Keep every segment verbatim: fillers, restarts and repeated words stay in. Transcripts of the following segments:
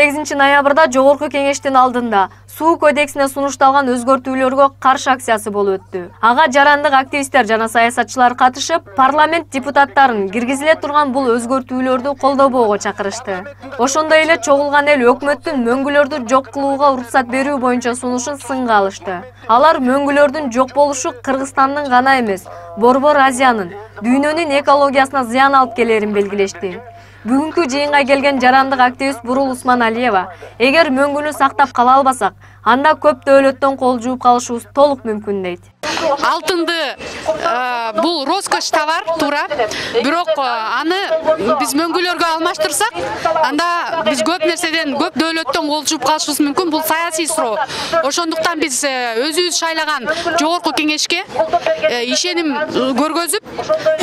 сегизинчи ноябрда Жогорку Кеңештин алдында суу кодексине сунушталган өзгөртүүлөргө каршы акциясы болуп өттү. Ага жарандык активисттер жана саясатчылар катышып, парламент депутаттарын киргизиле турган бул өзгөртүүлөрдү колдобоого чакырышты. Ошондой эле чогулган эл өкмөттүн мөңгүлөрдү жок кылууга уруксат берүү боюнча сунушун сынга алышты. Алар мөңгүлөрдүн жок болушу Кыргызстандын гана эмес, Борбор Азиянын, дүйнөнүн экологиясына зыян алып келерин белгилешти. Бүгүнкү жыйынга келген жарандык активист Бурул Усманалиева, эгер мөңгүнү сактап кала албасак, анда көп дөөлөттөн кол жууп калышыбыз толук мүмкүн дейт. Алтынды бул роскош товар туура, бирок аны биз мөңгүлөргө алмаштырсак, анда биз көп нерседен, көп дөөлөттөн кол жууп калышыбыз мүмкүн. Бул саясий суроо. Ошондуктан биз өзүбүз шайлаган Жогорку Кеңешке ишеним көргөзүп,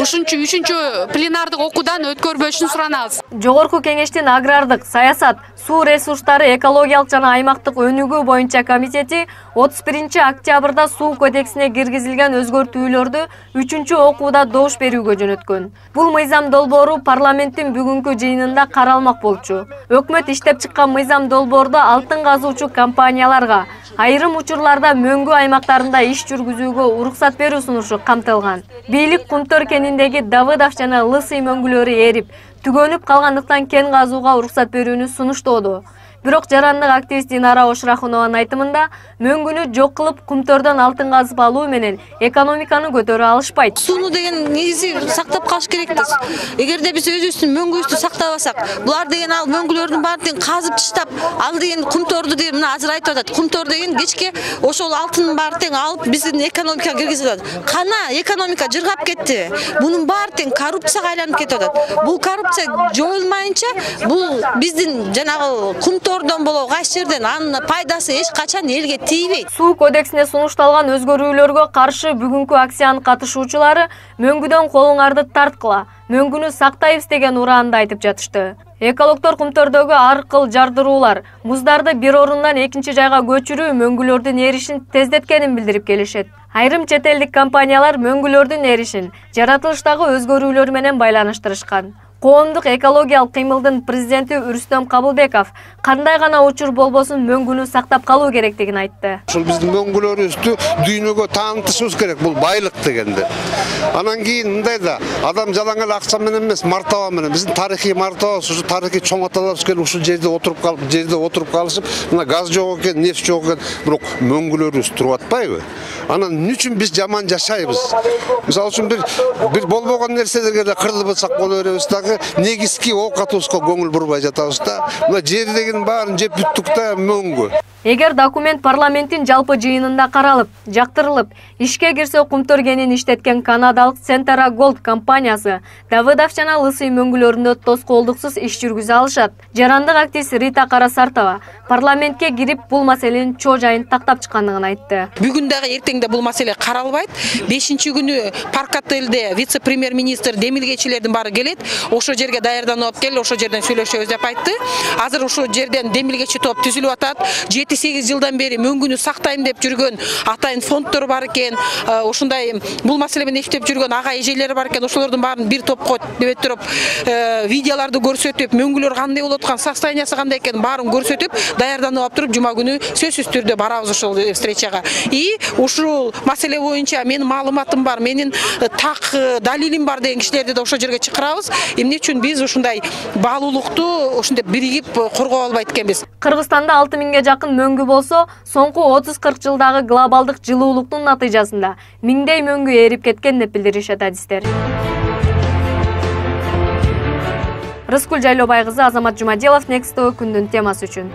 ушунчу үчүнчү пленардык окуудан өткөрбөшүн суранабыз. Жогорку Кеңештин агрардык, саясат, суу ресурстары, экологиялык жана аймактык өнүгүү боюнча комитети отуз биринчи октябрда суу кодексине киргизилген өзгөртүүлөрдү үчүнчү окууда добуш берүүгө жөнөткөн. Бул мыйзам долбоору парламенттин бүгүнкү жыйынында каралмак болчу. Өкмөт иштеп чыккан мыйзам долбоордо алтын казуучу компанияларга айрым учурларда мөңгү аймактарында иш жүргүзүүгө уруксат берүү сунушу камтылган. Бийлик Кумтөр кениндеги Давыдов жана Лысый мөңгүлөрү эрип, түгөнүп калгандыктан кен казууга уруксат берүүнү сунуштоодо. Бирок жарандык активист Динара Ошрахунованын айтымында, мөңгүнү жок кылып, Кумтөрдөн алтын казып алуу менен экономиканы көтөрө алышпайт. Сууну деген негизи сактап калыш керекпиз. Эгерде биз өзүбүздүн мөңгүбүздү сактабасак, булар деген ал мөңгүлөрдүн баарын казып чыштап, ал деген Кумтөрдү деп мына азыр айтып атат. Кумтөр деген кечке ошол алтындын баары тең алып биздин экономикага киргизип атат. Кана экономика жыргап кетти. Бунун баары тең коррупцияга айланып кетип атат. Бул коррупция жоюлмайынча, бул биздин жанагы Кумтөрдөн болобу кайсы жерден анын пайдасы эч качан элге тийбейт. Суу кодексине сунушталган өзгөрүүлөргө каршы бүгүнкү акциянын катышуучулары мөңгүдөн колуңарды тарткыла, мөңгүнү сактайбыз деген ураанды айтып жатышты. Экологдор Кумтөрдөгү ар кыл жардыруулар, муздарды бир орундан экинчи жайга көчүрүү мөңгүлөрдүн эришин тездеткенин билдирип келишет. Айрым чет элдик компаниялар мөңгүлөрдүн эришин жаратылыштагы өзгөрүүлөр менен байланыштырышкан. Коомдук экологиялык кыймылдын президенти Үрүстөм Кабылбеков кандай гана учур болбосун мөңгүнү сактап калуу керектигин айтты. Ушул биздин мөңгүлөрүбүздү дүйнөгө таанытышыбыз керек, бул байлык дегенде. Анан кийин мындай да, адам жалаң эле акча менен эмес, мартаба менен. Биздин тарыхый мартабабыз, ушу тарыхый чоң аталарыбыз келип ушул жерде отуруп калып, жерде отуруп калышып, мына газ жок экен, нефть жок экен, бирок мөңгүлөрүбүз туруп атпайбы? Анан эмне үчүн биз жаман жашайбыз? Мисалы үчүн бир бир болбогон нерселерге эле кырылып атсак боло беребиз дагы, негизги оокатыбызга көңүл бурбай жатабыз да. Мына жер деген баарын жеп бүттүк да мөңгү. Эгер документ парламенттин жалпы жыйынында каралып, жактырылып, ишке кирсе Кумтөр кенин иштеткен канадалык Centera Gold компаниясы Давыдов жана Лысый мөңгүлөрүндө тоскоолдуксуз иш жүргүзө алышат. Жарандык активист Рита Карасартова парламентке кирип бул маселенин чоо жайын тактап чыккандыгын айтты. Бүгүн дагы эртең да бул маселе каралбайт. бешинчи күнү Парк отелде вице-премьер-министр демилгечилердин баары келет. Ошо жерге даярданып кел, ошо жерден сүйлөшөбүз деп айтты. Азыр ошо жерден демилгечи топ түзүлүп атат. жети сегиз жылдан бери мөңгүнү сактайм деп жүргөн атайын фонддор бар экен. Ошондой бул маселе менен иштеп жүргөн ага эжелери бар экен. Ошолордун баарын бир топко деп туруп, видеолорду көрсөтүп, мөңгүлөр кандай болуп аткан, состояниясы кандай экенин баарын көрсөтүп, даярданып алып туруп, жума күнү сөзсүз түрдө барабыз ошол встречага. И ушул маселе боюнча менин маалыматым бар, менин так далилим бар деген кишилерди да ошол жерге чакырабыз. Эмне үчүн биз ушундай баалуулукту ушундай биригип коргоп албайт экенбиз? Кыргызстанда алты миңге жакын мөңгү болсо, соңку отуз кырк жылдагы глобалдык жылуулуктун натыйжасында миңдей мөңгү эрип кеткен деп билдиришет адистер. Рыскүл Жайлообай кызы, Азамат Жумаделов, Next тэ вэ күндүн темасы үчүн.